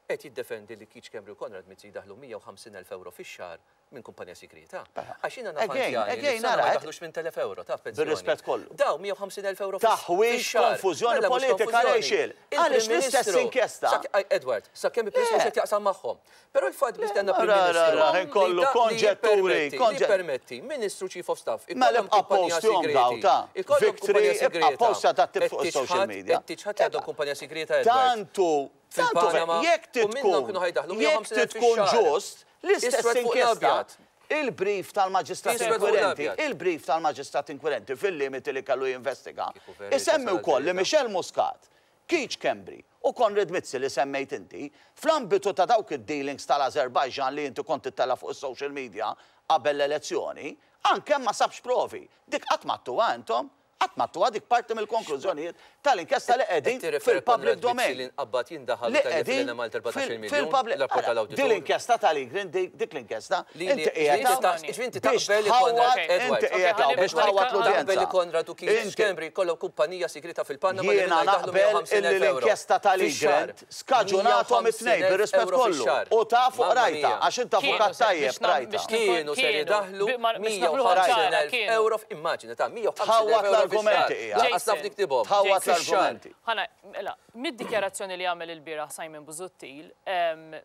qed jiddefendi li Keith Schembri u Konrad Mizzi daħlu 150,000 euro fix-xahar minn kumpanija segreta. Għax jiena naf Again, anzjani li again, f'sena ma ara, jdaħlux 8,000 euro ta' pensjoni. Bir-rispett kollu. Daw 150,000 euro Taħwix fix-xahar. konfużjoni Mela mhux politika, konfużjoni. Rachel. Il-Prim Għaliex l-istess Ministru- inkjesta- Sa- aj, Edward, sa kemm il-Prim Ministru Le. qed jaqsam magħhom. Però il-fatt biss għandna Prim Ra, ra, Ministru ra, li inkollu da- li konġetturi, jippermetti- li konġe- jippermetti Ministru Chief of Staff Mela ikollhom ibqa' kumpanija postjom segreti, daw ta' ikollhom Victory, kumpanija ibqa' segreta. postja ta' tip Qed fuq is-social tiċħad- media. Qed tiċħad li għandhom kumpanija segreta Edward. Tantu, tantu, Fil-Panama, jekk u minnhom titkun, kienu ħajdaħlu jekk 150,000 titkun fix-xahar. ġust, l-istess Iswed fuq inkjesta, l-abjad. il-brief tal-maġistrat Iswed fuq inkwirenti, l-abjad. il-brief tal-maġistrat inkwirenti fil-limiti li kellu jinvestiga, Kieku verità isemmi sal wkoll li verità. Michelle Muscat, Keith Schembri u Konrad Mizzi li semmejt inti, fl-ambitu ta' dawk id-dealings tal-Azerbajġan li inti kont ittella fuq is-social media qabel l-elezzjoni, anke ma sabx provi. Dik qatt m'għedtuha intom, qatt m'għedtuha dik parti mill-konklużjonijiet tal-inkjesta li qegħdin Qed tirreferi fil-public Konrad Mizzi domain. li nqabbad jindaħal Li tal qegħdin Malta 14 miljun, fil-public. l-rapport Ara, tal-awditur. Din l-inkjesta tal-Egrant, dik l-inkjesta, Li- inti li- qiegħed inti ta' inti biex taqbel li Konrad tħawwad, Edward. inti qiegħed hawn biex Okay, tħawwad ħalli- l-udjenza. Taqbel li Konrad u Keith Inti- Schembri kollhom kumpanija segreta fil-Panama li Jiena minnha jdaħlu naqbel 150,000 illi euro. l-inkjesta tal-Egrant skaġunatom it-tnejn bir-rispett euro kollu. fix-xahar. U ta' fuq Mamma rajta, mia. għax inta Kienu avukat se- tajjeb biex nam- rajta. biex Kienu ser Kienu, jidaħlu biex nagħmluha ċara, 150,000 kienu. euro immaġina ta' 150,000 Tħawwad euro l-argumenti fix-xahar. hija. Lanqas naf niktibhom. Tħawwad Jason. l-argumenti. Ħana, mela, mid-dikjarazzjoni li għamel il-bieraħ Simon Busuttil,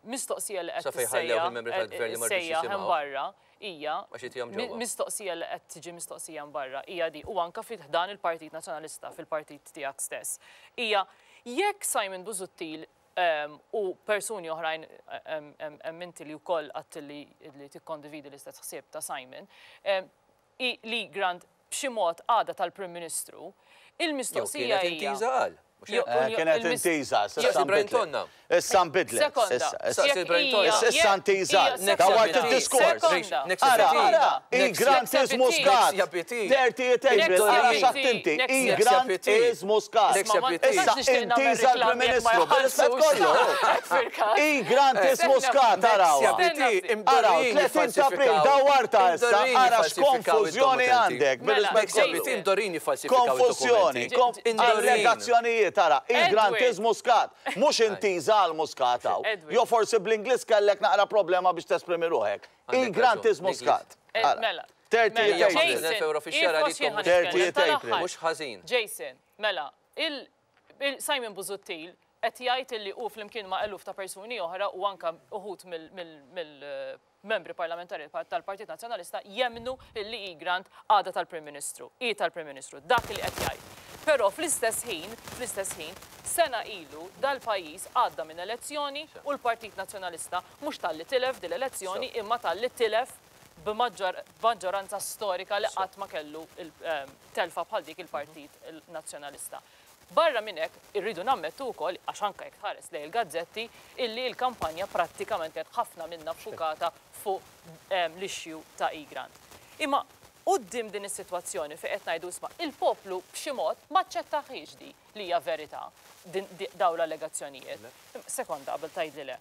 mistoqsija li qed Sa fejn ħallew tissejja il-membri tal-gvern li ma rridux sejja jisimgħu. hemm barra hija Għax jitihom ġewwa. mistoqsija li qed tiġi mistoqsija hemm barra hija di u anka fi ħdan il-Partit Nazzjonalista fil-partit tiegħek stess. Hija jekk Simon Busuttil u persuni oħrajn hemm inti li wkoll qatt li li tikkondividi l-istess ħsieb ta' Simon, li Grant b'xi mod għada tal-Prim Ministru, Jew il-mistoqsija kienet hija. intiża għal. Mhux hekk? Kienet intiża, issa Jaqsi Brian nbidlet. Tonna. Issa nbidlet. Sekonda. Issa, issa. Saqsi Jekk Brian hija- Tonna. Issa jekk intiża. hija- Dawart sekonda. il-diskors. Sekonda. Next Ara, CBT. ara, Next il-Grant is CBT. Muscat. Next CBT. 30 April, ara xattinti. Next Il-Grant CBT. is Muscat. Next Ma- ma CBT. nistax Issa nixtieq nagħmel intiża l-Prim reklam jekk ma Ministru, bil-rispett kollu. fil-każ. Il-Grant is Muscat, arawa. Araw, 30 ta' April, dawarta issa, ara x'konfużjoni għandek, bil-rispett Mela, kollu. Jason. Imdorini falsifikaw Konfużjoni, il-dokumenti. allegazzjonijiet, ara, il-Grant Edward. is Muscat, mhux intiża għal Muscat hawn. Edward. Jo forsi bl-Ingliż kellek naqra problema biex tesprimi ruħek. Għandek Il-Grant is raġun, Muscat. Eh, Mela. 30 Mela, April. Jason, euro fix-xahar if għalikom. jien ħa nitkellem 30 tal-aħħar. April. Mhux ħażin. Jason, mela, il, il Simon Busuttil qed jgħid illi hu flimkien ma' eluf ta' persuni oħra u anka uħud mill-membri parlamentari tal-Partit Nazzjonalista jemnu illi Egrant għada tal-Prim Ministru, i tal-Prim Ministru, dak li qed jgħid. Però fl-istess ħin, fl-istess ħin, sena ilu dal-pajjiż għadda minn elezzjoni u l-Partit Nazzjonalista mhux talli tilef dil-elezzjoni imma talli tilef b'maġġoranza storika li qatt ma kellu telfa bħal dik il-Partit Nazzjonalista. Barra minn hekk irridu nammettu wkoll għax anke jekk tħares lejn il-gazzetti illi l-kampanja prattikament kienet ħafna minnha ffukata fuq l-issue ta' Egrant. Imma quddiem din is-sitwazzjoni fejn qed ngħidu isma' il-poplu b'xi mod ma aċċettaħiex di li hija verità dawn l-allegazzjonijiet. Sekonda qabel tgħidli le.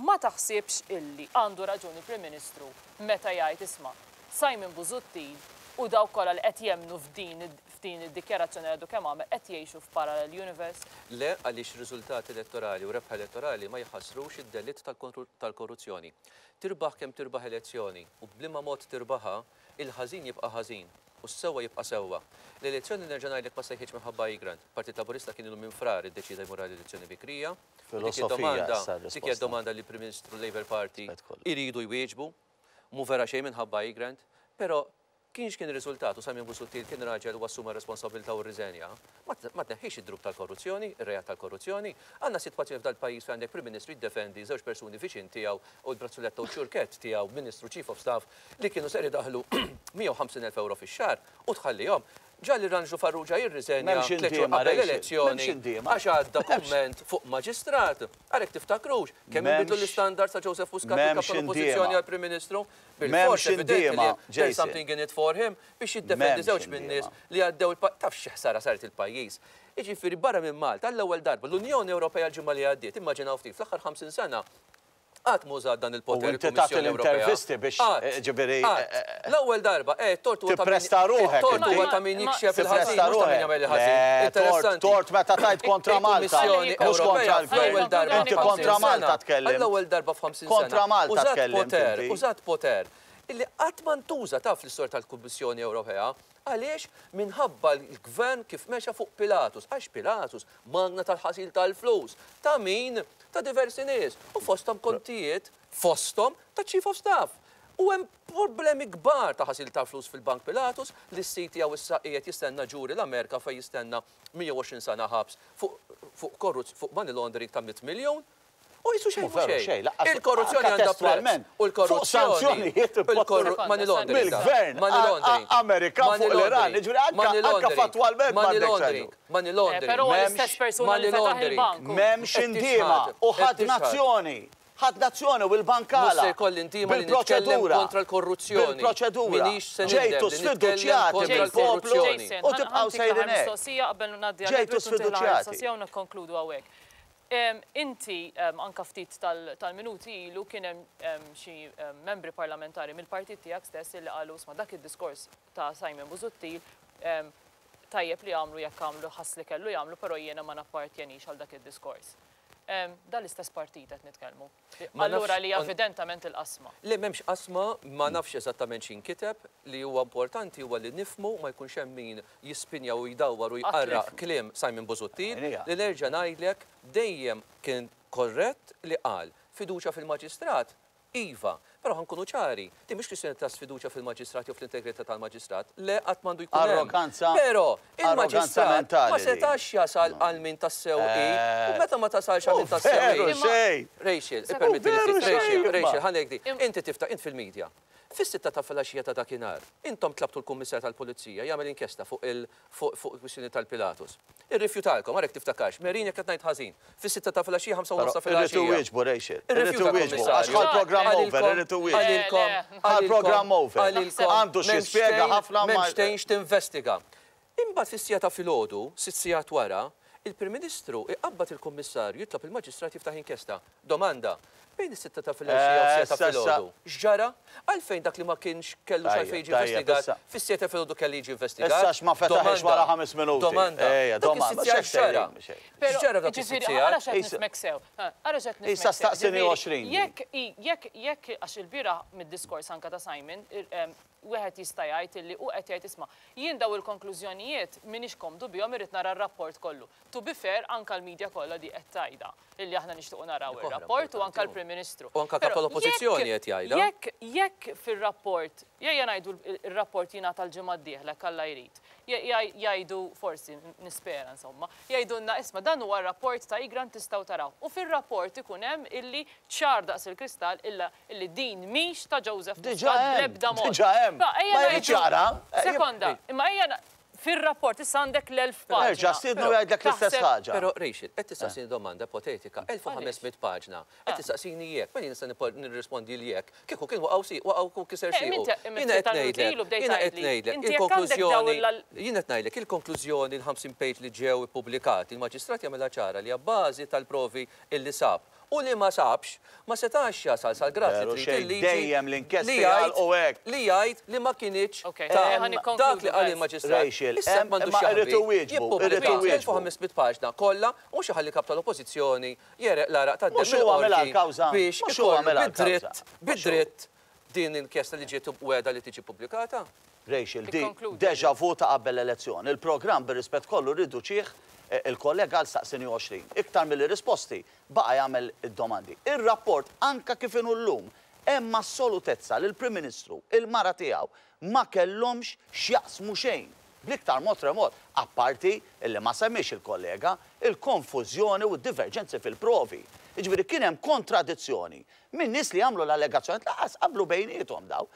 Ma taħsibx illi għandu raġuni il-Prim Ministru meta jgħid isma' Simon Busuttil u dawk kollha li qed jemnu f'din id-dikjarazzjoni għadu kemm għamel qed jgħixu f'parallel universe? Le għaliex riżultati elettorali u rebħa elettorali ma jħassrux id-delitt tal-korruzzjoni. Tirbaħ kemm tirbaħ elezzjoni u b'liema mod tirbaħha, il-ħażin jibqa' ħażin u s-sewwa jibqa' sewwa. L-elezzjoni nerġa' ngħidlek ma sejħitx minħabba Egrant. Partit Laburista kien ilu minn frar iddeċida jmur għal elezzjoni bikrija. U dik Filosofija id-domanda- issa Dik hija r-risposta. domanda li Prim Ministru Labour Party Rispett kollu. iridu jwieġbu, mu vera xejn minħabba Egrant, però kienx kien ir-riżultat u Simon Busuttil kien raġel u assuma responsabilità u rriżenja, ma tneħħix id-drub tal-korruzzjoni, ir-reat tal-korruzzjoni. Għandna sitwazzjoni f'dal-pajjiż fejn għandek Prim Ministru jiddefendi żewġ persuni viċin tiegħu u l-brazzuletta u ċurkett tiegħu Ministru Chief of Staff li kienu ser idaħlu 150,000 euro fix-xahar u tħallihom. Ġa li Ranġlu Farrugia jirriżenja M'hemmx tliet xhur indiema, qabel Rachel. l-elezzjoni M'hemmx indiema. għax għadda kumment fuq maġistrat. Għalhekk tiftakrux kemm inbidlu M'hemmx l-istandards ta' Joseph Muscat minn kap M'hemmx tal-Oppożizzjoni indiema. għal Prim Ministru. M'hemmx Bilfors evidenti li indiema, there's Jason. something in it for him biex jiddefendi M'hemmx żewġ min-nies indiema. li għaddew il-pa taf xi ħsara saret il-pajjiż. Jiġifieri barra minn Malta għall-ewwel darba l-Unjoni Ewropea l-ġimgħa li għaddiet, immaġinaw ftit, fl-aħħar 50 sena Qatt m'użat dan il-poter U inti tagħti il-Kummissjoni Ewropea. l-intervisti biex, Qatt, eh, ġifieri, qatt. eh, eh, L-ewwel darba, eh, tort huwa ta' min Tippresta ruħek it-tort inti. huwa ta' min jikxef il-ħażin, Tippresta mhux ta' min ruħek. jagħmel il-ħażin. Le, tort, Interessanti. tort meta tajt kontra Malta, Il-Kummissjoni mhux kontra Ewropea l-gvern. fl-ewwel darba Inti f'ħamsin kontra sena, Malta tkellimt. għall-ewwel darba f'ħamsin sena, Kontra Malta użat tkellimt poter, inti. użat poter illi qatt ma ntuża taf fl-istorja tal-Kummissjoni Ewropea. Għaliex? Minħabba l-gvern kif mexa fuq Pilatus. Għax Pilatus magna tal-ħasil tal-flus. Ta' min? Ta' diversi nies. U fosthom kontijiet, fosthom ta' Chief of Staff. U hemm problemi kbar ta' ħasil tal-flus fil-Bank Pilatus li s-sid tiegħu issa qiegħed jistenna ġuri l-Amerika fejn jistenna 120 sena ħabs fuq fuq korruz fuq money laundering ta' 100 miljun. U jisu xejn Mhu veru xejn. xejn, laqqas Il-korruzzjoni anka għandha prezz. testwalment. U Fuq sanzjonijiet l-korruzzjoni. Money laundering. Mill-gvern Money laundering. Amerikan Money fuq l-Iran. laundering. Jiġifieri anka- Money anka laundering. fattwalment Money m'għandek laundering. xejn. Money laundering. Però huwa M'hemmx l-istess persuna li money fetaħ laundering. il-bank. M'hemmx Qed indiema tixħad, u qed ħadd tixħad. nazzjoni. Ħadd nazzjoni u l-bankala. Mhux se jkolli intima li nitkellem Bil-proċedura. kontra l-korruzzjoni. Bil-proċedura. Minix se nindem Ġejtu li nitkellem sfiduċjati kontra mill-poplu l-korruzzjoni. Jason, u tibqgħu sejrin hekk. mistoqsija qabel ngħaddi għal Ġejtu Edward u ntih l-aħħar sfiduċjati. mistoqsija u nikkonkludu hawnhekk. Inti anka ftit tal-minuti ilu kien hemm xi membri parlamentari mill-partit tiegħek stess illi qalu isma' dak id-diskors ta' Simon Busuttil tajjeb li għamlu jekk għamlu ħass li kellu jagħmlu però jiena ma nappartjenix għal dak id-diskors. Dan l-istess partit qed nitkellmu. Ma nafx Allura li evidentament il-qasma. Le m'hemmx qasma, ma nafx eżattament x'inkiteb, li huwa importanti huwa li nifhmu ma jkunx hemm min jispinja u jdawwar u jqarraq kliem Simon Busuttil, li nerġa' ngħidlek dejjem kien korrett li qal fiduċja fil-maġistrat Iva, però ħa nkunu ċari, din mhix kwistjoni ta' sfiduċja fil-maġistrat jew fl-integrità tal-maġistrat, le qatt m'għandu jkun hemm. Arroganza, Però arroganza il-maġistrat ma mentali din. setax jasal għal min tassew hi, u meta ma tasalx għal Hu min tassew hi. veru xejn! Rachel, Hu ippermettili veru ftit, Rachel, xejn imma. Rachel, ħa ngħidlek di. Inti tifta' int fil-media. Fis-sitta ta' filgħaxija ta' dakinhar, intom tlabtu l-Kummissarju tal-Pulizija jagħmel inkjesta fuq il fuq fuq il-kwistjoni tal-Pilatus. Irrifjutalkom, ara jekk tiftakarx, Merin jekk qed ngħid ħażin. Fis-sitta ta' filgħaxija, ħamsa u nofs ta' Però irrid filgħaxija. iwieġbu, Rachel. Irrid Irrifjuta iwieġbu, għax l-Kummissarju. ħa l-programm over, Qalilkom, irrid iwieġbu. qalilkom, Le, le. Ħa l-programm over. qalilkom, Għandu xi m'hemmx jispjega fejn- ħafna ma M'hemmx fejn x'tinvestiga. Imbagħad fis-siegħa ta' filgħodu, sitt sigħat wara, Il-Prim Ministru iqabbad il-Kummissarju jitlob il-Maġistrat jiftaħ inkjesta. Domanda, bejn is-sitta ta' filgħaxija u s-siegħa ta' filgħodu, x'ġara? Għalfejn dak li ma kienx kellux għalfejn jiġi investigat, fis-siegħa ta' filgħodu kellu jiġi investigat? Issa x'ma fetaħiex wara ħames minuti. Domanda, dak is-sitt sigħat x'ġara? X'ġara f'dak is-sitt sigħat? Ara x'qed nifhmek sew. Ara x'qed nifhmek sew. Issa staqsini 20. Jekk, jekk, jekk, għax ilbieraħ mid-diskors anke ta' Simon, wieħed jista' jgħid illi hu qed jgħid isma' jien dawn il-konklużjonijiet m'iniex komdu bihom irrid nara r-rapport kollu. To be fair anke l-media kollha di qed tgħidha illi aħna nixtiequ naraw ir-rapport u anke l-Prim Ministru. U anke kap tal-Oppożizzjoni qed jgħidha. Jekk jekk fir-rapport, ejja ngħidu r-rapport jingħata l-ġimgħa d-dieħla jekk Alla jrid, jgħidu forsi, nispera insomma, jgħidulna isma' dan huwa r-rapport ta' Egrant tistgħu tarawh. U fir-rapport ikun hemm illi ċar daqs il-kristall illa Illi din mhix ta' Joseph Diġà Muscat hemm, bl-ebda mod. diġà hemm. Ma ejja Ma jridx ngħidu- jaqra. Sekonda, imma ejja na- fir-rapport issa għandek l-1000 paġna. Erġa' stiednu jgħidlek l-istess Taħseb- ħaġa. Però Rachel, qed tistaqsini domanda ipotetika, 1500 paġna. Qed tistaqsini jekk, mela jien nista' nirrispondi l jekk. Kieku kien waqgħu si, waqgħu kiser Eh, siequ. minti- imma Jiena qed ftit tal-minuti ngħidlek, ilu bdejt jiena qed tgħidli, ngħidlek, inti jekk għandek dawn il-konklużjoni, l- jien qed ngħidlek il-konklużjoni l-50 page li ġew ippubblikati, il-maġistrat jagħmilha ċara li abbażi tal-provi illi sab U li ma sabx, ma setax jasal sal-grad li Veru trid xejn, il-liġi dejjem l-inkjesti li jgħid jagħlqu hekk. li jgħid li ma kinitx Ok, ta' ħa nikkonkludu, dak li qal guys. il-maġistrat. Rachel, Issa hemm- m'għandux imma jaħbi, irrid iwieġbu, irrid jippubblika iwieġbu. 1500 paġna kollha u mhux iħalli kap tal-Oppożizzjoni jereq l-għaraq tad-demm Mhux hu għamilha mill-qorti l-kawża, biex mhux hu ikollu għamilha bid-dritt, l-kawża. Mhux hu. bid-dritt din inkjesta li ġiet wegħda li tiġi ppubblikata. Rachel, di Ikkonkludi. deja vu ta' qabel l-elezzjoni. Il-programm bir-rispett kollu rriduċih il-kollega għal staqsini 20. Iktar milli risposti, baqa' jagħmel id-domandi. Ir-rapport anka kif inhu llum, hemm assolutezza li l-Prim Ministru, il-mara tiegħu, ma kellhomx x'jaqsmu xejn, bl-iktar mod remot, apparti illi ma semmiex il-kollega, il-konfużjoni u d-diverġenzi fil-provi. Jiġifieri kien hemm kontradizzjoni minn nies li għamlu l-allegazzjonijiet lanqas qablu bejniethom dawn.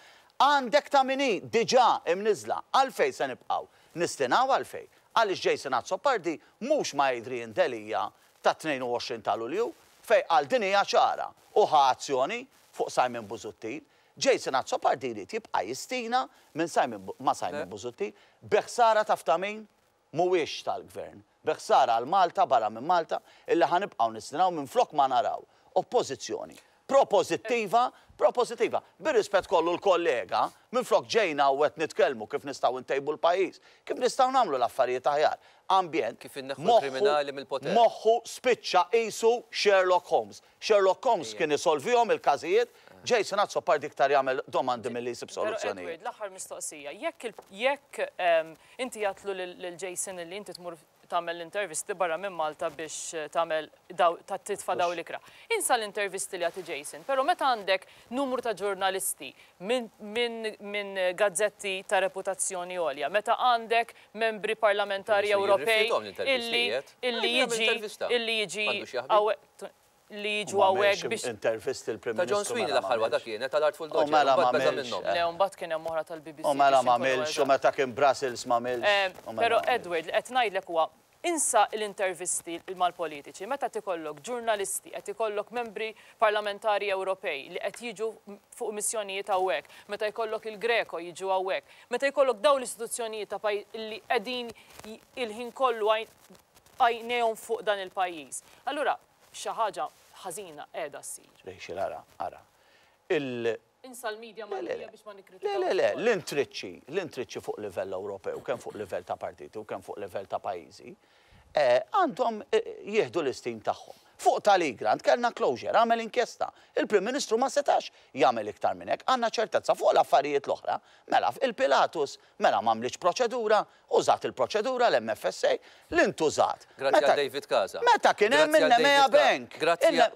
Għandek ta' min hi diġà imniżżla. Għalfejn se nibqgħu nistinaw għalfejn? Għaliex Jason Azzopardi mhux ma' Adrian Delia tat-22 ta' Lulju fejn qal din hija ċara u ħa azzjoni fuq Simon Busuttil. Jason Azzopardi jrid jibqa' jistina minn Simon ma' Simon Busuttil bi ħsara taf ta' min? Mhuwiex tal-Gvern. Bi ħsara għal Malta barra minn Malta illi ħa nibqgħu nistinaw minflok ma naraw Oppożizzjoni propożittiva, propożittiva. Bir-rispett kollu l-kollega, minflok ġejna u qed nitkellmu kif nistgħu ntejbu l-pajjiż, kif nistgħu nagħmlu l-affarijiet aħjar. Ambjent, Kif inneħħu moħħu, l-kriminali mill-poter. moħħu spiċċa qisu Sherlock Holmes. Sherlock Holmes kien isolvihom il-każijiet, Jason Azzopardi iktar jagħmel domandi milli jsib Però soluzzjonijiet. Edward, l-aħħar mistoqsija, jekk il, jekk inti għedtlu lil Jason illi inti tmur tagħmel l-intervisti barra minn Malta biex tagħmel daw, ta' titfa' daw l-ikra. Insa l-intervisti li jagħti Jason, però meta għandek numru ta' ġurnalisti minn minn minn gazzetti ta' reputazzjoni għolja, meta għandek membri parlamentari Ewropej illi illi jiġi illi jiġi li jiġu hawnhekk biex. Intervisti l-Prim Ta' John Ministru Sweeney mela l-aħħar waħda m'għamilx. kienet tal-Artful U Dodger, mela u mbagħad beża' m'għamilx. minnhom. Le, u mbagħad kien hemm oħra tal-BBC U mela biex inkunu m'għamilx, u eżatt. meta kien Brussels m'għamilx. U mela Però m'għamilx. Edward, li qed ngħidlek huwa insa l-intervisti mal-politiċi, meta qed ikollok ġurnalisti, qed ikollok membri parlamentari Ewropej li qed jiġu fuq missjonijiet hawnhekk, meta jkollok il-Greco jiġu hawnhekk, meta jkollok dawn l-istituzzjonijiet ta' pajjiż li qegħdin il-ħin kollu għajnejhom fuq dan il-pajjiż. Allura xi ħaġa ħażina qiegħda ssir. Rachel, ara, ara. Il. Insa l-media Le, le, Maltija le. biex ma Le, le, nikkritikawx le, ukoll. l-intriċċi, l-intriċċi fuq livell Ewropew, kemm fuq livell ta' partiti u kemm fuq livell ta' pajjiżi, għandhom jieħdu l-istim tagħhom. Fuq tal-Egrant kellna closure, għamel inkjesta. Il-Prim Ministru ma setax jagħmel iktar minn hekk. Għandna ċertezza fuq l-affarijiet l-oħra. Mela, il-Pilatus, mela m'għamlitx proċedura, Użat il-proċedura l-MFSA li ntużat. Grazzi għal David Casa. Meta kien hemm in-Nemea Bank.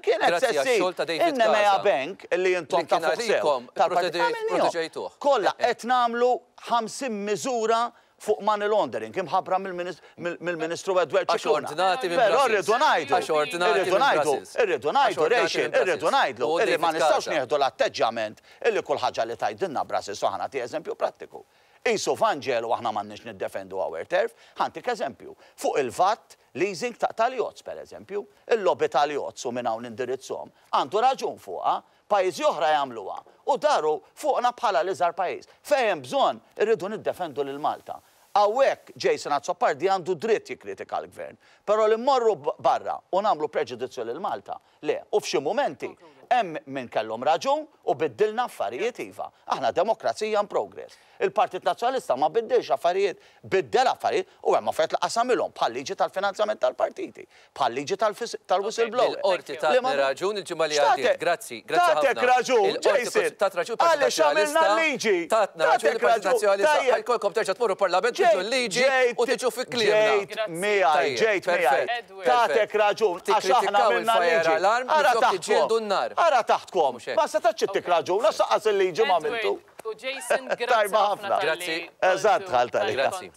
Kienet se ssir in-Nemea Bank li intom tafuh sew. Proteġejtuh. Kollha qed nagħmlu 50 miżura fuq money laundering imħabbra mill-Ministru Edward Scicluna. Però rridu ngħidu, irridu ngħidu, irridu ngħidu, Rachel, irridu ngħidlu illi ma nistgħux nieħdu l-atteġġjament illi kull ħaġa li tgħidilna Brussels u ħa nagħti eżempju prattiku. Qisu Vanġelu aħna m'għandniex niddefendu our turf. Ħa ntik eżempju. Fuq il-VAT, leasing ta' tal-yachts per eżempju. Il-lobby tal-yachts u minn hawn nindirizzhom, għandu raġun fuqha. Pajjiżi oħra jagħmluha u daru fuqna bħala l-iżgħar pajjiż. Fejn hemm bżonn, irridu niddefendu lil Malta. Hawnhekk Jason Azzopardi għandu dritt jikkritika l-Gvern. Però li mmorru barra u nagħmlu preġudizzju lil Malta, le. U f'xi mumenti hemm min kellhom raġun u biddilna affarijiet iva. Aħna demokrazija in progress. Il-Partit Nazzjonalista ma biddilx affarijiet, biddel affarijiet u hemm affarijiet li qasamilhom bħal-liġi tal-finanzjament tal-partiti, bħal-liġi tal-whistleblower. Il-Qorti tatni raġun il-ġimgħa li għaddiet. Grazzi, grazzi ħafna. Tatek raġun, Jason. Tat raġun il-Partit Għaliex għamilna l-liġi. Tatna raġun il-Partit Nazzjonalista. Ħa jkollkom terġa' tmorru l-Parlament tbiddlu l-liġi u tiġu fi kliemna. Ġejt miegħi, ġejt miegħi. Tatek raġun għax aħna għamilna l-liġi. Ara taħtkom. Ara taħtkom. Ma setax ittik raġun għax lanqas il-liġi m'għamiltu. U Jason, grazzi ħafna talli Eżatt, dħalt għalija. Grazzi.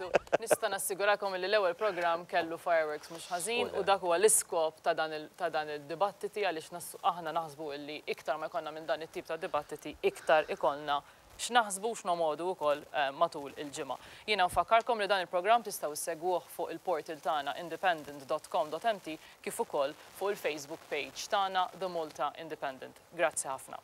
Nista' nassigurakom li l-ewwel programm kellu fireworks mhux ħażin u dak huwa l-iskop ta' dan id-dibattiti għaliex aħna naħsbu illi iktar ma jkollna minn dan it-tip ta' dibattiti iktar ikollna x'naħsbu u x'nomogħdu wkoll matul il-ġimgħa. Jiena nfakkarkom li dan il-programm tistgħu ssegwuh fuq il-portal tagħna independent dot com dot mt kif ukoll fuq il-Facebook page tagħna The Malta Independent. Grazzi ħafna.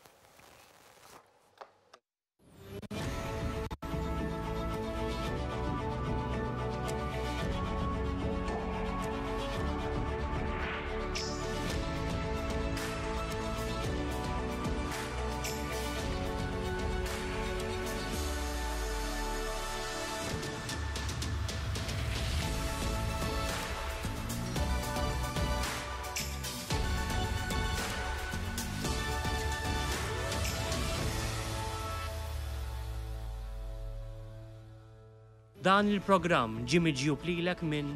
Dan il-programm ġie miġjub lilek minn.